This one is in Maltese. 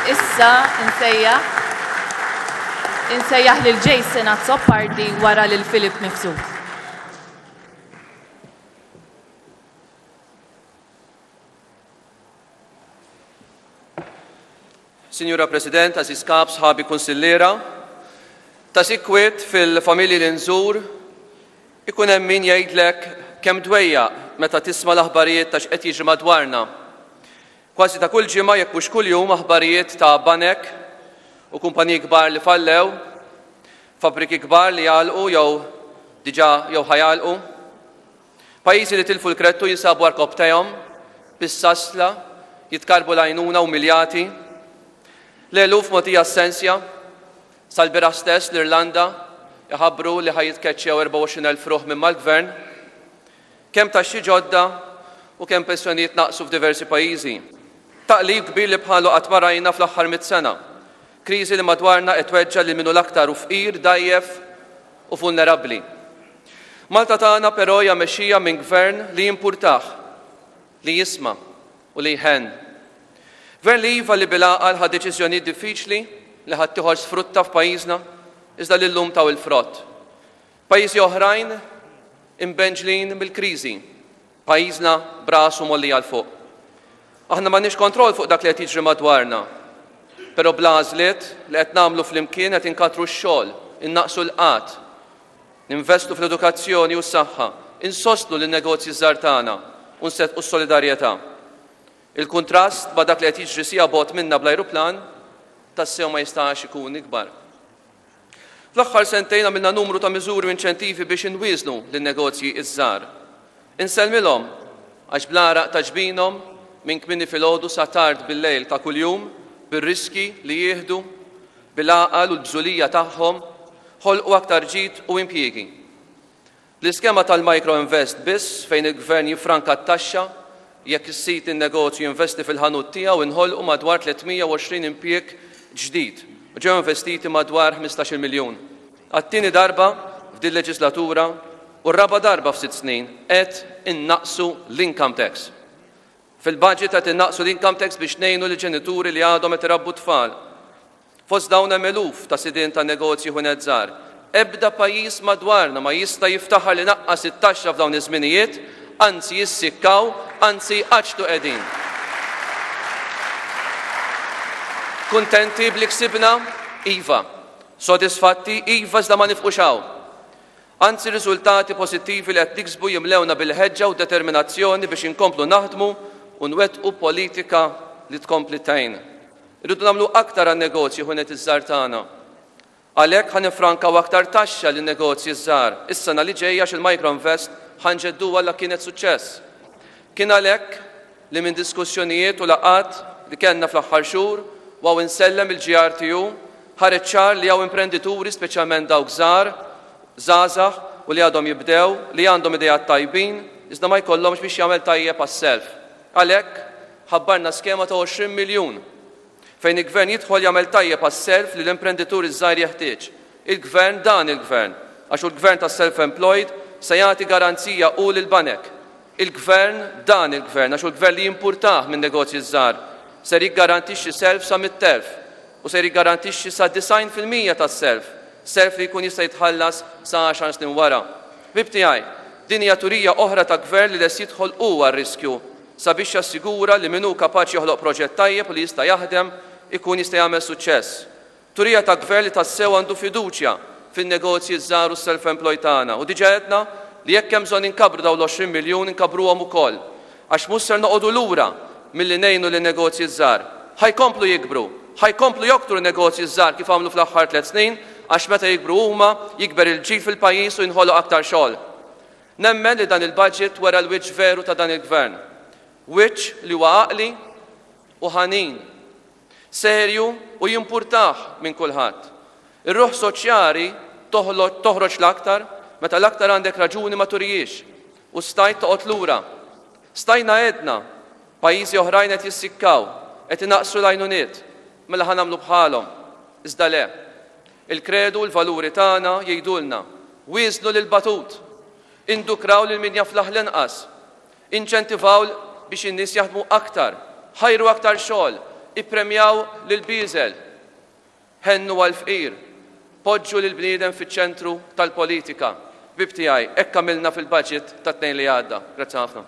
Issa nsejjaħ insejjaħ lil Jason Azzopardi wara lil Philip Mifsud. Sinjura President, għażiż Kap, sħabi kunsilliera, ta' sikwit fil-familji li nżur ikun hemm min jgħidlek kemm dwejjaq meta tisma' l-aħbarijiet ta' x'qed jiġri madwarna. Kważi ta' kull ġimgħa jekk mhux kuljum aħbarijiet ta' banek u kumpaniji kbar li fallew, fabbriki kbar li jagħlqu jew diġà jew ħa jagħlqu. Pajjiżi li tilfu l-kredtu jinsabu għarkopptejhom, bis-sasla, jitkarrbu l-għajnuna umiljati. L-eluf mogħtija s-sensja. Sal-bieraħ stess l-Irlanda iħabbru li ħa jitkeċċew 24,000 ruħ minn mal-gvern. Kemm taxxi ġodda u kemm pensjonijiet naqsu f'diversi pajjiżi. Taqlib kbir li bħalu qatt ma rajna fl-aħħar mitt sena. Kriżi li madwarna qed tweġġa' lil min hu l-aktar hu fqir, dgħajjef u vulnerabbli. Malta tagħna però hija mexxija minn gvern li jimpurtah, li jisma' u li jħenn. Gvern li iva li bil-għaqal ħa deċiżjonijiet diffiċli li ħaddieħor sfrutta f'pajjiżna iżda li llum taw il-frott. Pajjiżi oħrajn imbenġlin mill-kriżi, pajjiżna b'rasu mgħollija 'l fuq. Aħna m'għandniex kontroll fuq dak li qed jiġri madwarna, però bl-għażliet li qed nagħmlu flimkien qed inkattru x-xogħol, innaqqsu l-qgħad, ninvestu fl-edukazzjoni u s-saħħa, insostnu lin-negozji ż-żgħar tagħna u nseddqu s-solidarjetà. Il-kuntrast ma' dak li qed jiġri siegħa bogħod minna bl-ajruplan tassew ma jistax ikun ikbar. Fl-aħħar sentejn għamilna numru ta' miżuri u inċentivi biex inwieżnu lin-negozji ż-żgħar. Insellmilhom għax bl-għaraq ta' ġbinhom minn kmieni filgħodu sa tard bil-lejl ta' kuljum, bir-riskji li jieħdu, bil-għaqal u l-bżulija tagħhom, ħolqu aktar ġid u impjiegi. L-iskema tal-Micro Invest biss fejn il-Gvern jiffranka t-taxxa jekk is-sid in-negozju jinvesti fil-ħanut tiegħu inħolqu madwar 320 impjieg ġdid u ġew investiti madwar ħmistax-il miljun. Għat-tieni darba f'dil-leġislatura u r-raba' darba f'sitt snin qed innaqqsu l-income tax. Fil-budget qed innaqqsu l-income tax biex ngħinu lill-ġenituri li għadhom qed irabbu t-tfal. Fost dawn hemm eluf ta' sidien ta' negozji ħwienet żgħar. Ebda pajjiż madwarna ma jista' jiftaħar li naqqas it-taxxa f'dawn iż-żminijiet, anzi jissikkaw, anzi jqaċċtu qegħdin. Kuntenti b'li ksibna? Iva. Sodisfatti? Iva iżda ma nifqux hawn. Anzi r-riżultati pożittivi li qed niksbu jimlewna bil-ħeġġa u determinazzjoni biex inkomplu naħdmu u nwettqu politika li tkompli tgħin. Irridu nagħmlu aktar għan-negozji ħwienet iż-żgħar tagħna. Għalhekk ħa niffrankaw aktar taxxa lin-negozji ż-żgħar is-sena li ġejja għax il-Microinvest ħa nġedduha la kienet suċċess. Kien għalhekk li minn diskussjonijiet u laqgħat li kellna fl-aħħar xhur u hawn insellem il-GRTU ħareġ ċar li hawn imprendituri speċjalment dawk żgħar, żgħażagħ u li għadhom jibdew li għandhom ideat tajbin iżda ma jkollhomx biex jagħmel tajjeb għas-self. Għalhekk, ħabbarna skema ta' 20 miljun fejn il-Gvern jidħol jagħmel tajjeb għas-self li l-imprenditur iż-żgħir jeħtieġ. Il-Gvern, dan il-Gvern, għax hu l-Gvern tas-self-employed, se jagħti garanzija hu lill-banek. Il-Gvern, dan il-Gvern, għax hu l-Gvern li jimpurtah min-negozji ż-żgħar, ser jiggarantixxi self sa 100,000 u ser jiggarantixxi sa 90% tas-self, self li jkun jista' jitħallas sa għaxar snin wara. Ħbieb tiegħi, din hija turija oħra ta' Gvern li lest jidħol hu għar-riskju sabiex jassigura li min hu kapaċi joħloq proġett tajjeb u li jista' jaħdem ikun jista' jagħmel suċċess. Turija ta' Gvern li tassew għandu fiduċja fin-negozji ż-żgħar u s-self-employed tagħna u diġà għedna li jekk hemm bżonn inkabbru dawn l-20 miljun inkabbruhom ukoll għax mhux ser noqogħdu lura milli ngħinu lin-negozji ż-żgħar. Ħa jkomplu jikbru, ħa jkomplu joktru n-negozji ż-żgħar kif għamlu fl-aħħar tlett snin għax meta jikbru huma jikber il-ġid fil-pajjiż u jinħoloq aktar xogħol. Nemmen li dan il-budget wera l-wiċċ veru ta' dan il-Gvern. Wiċċ li huwa għaqli u ħanin. Serju u jimpurtah minn kulħadd. Ir-ruħ soċjali toħroġ l-aktar meta l-aktar għandek raġuni ma turihiex u stajt toqgħod lura. Stajna għedna, pajjiżi oħrajn qed jissikkaw, qed inaqqsu l-għajnuniet, mela ħa nagħmlu bħalhom. Iżda le. Il-kredu u l-valuri tagħna jgħidulna, wieżnu lill-batut, indukraw lil min jaflaħ l-inqas, inċentivaw biex in-nies jaħdmu aktar, ħajru aktar xogħol, Ippremjaw lill-bieżel. Ħennu għall-fqir. Poġġu lill-bniedem fiċ-ċentru tal-politika. Ħbieb tiegħi, hekk għamilna fil-budget tat-Tnejn li għadda. Grazzi ħafna.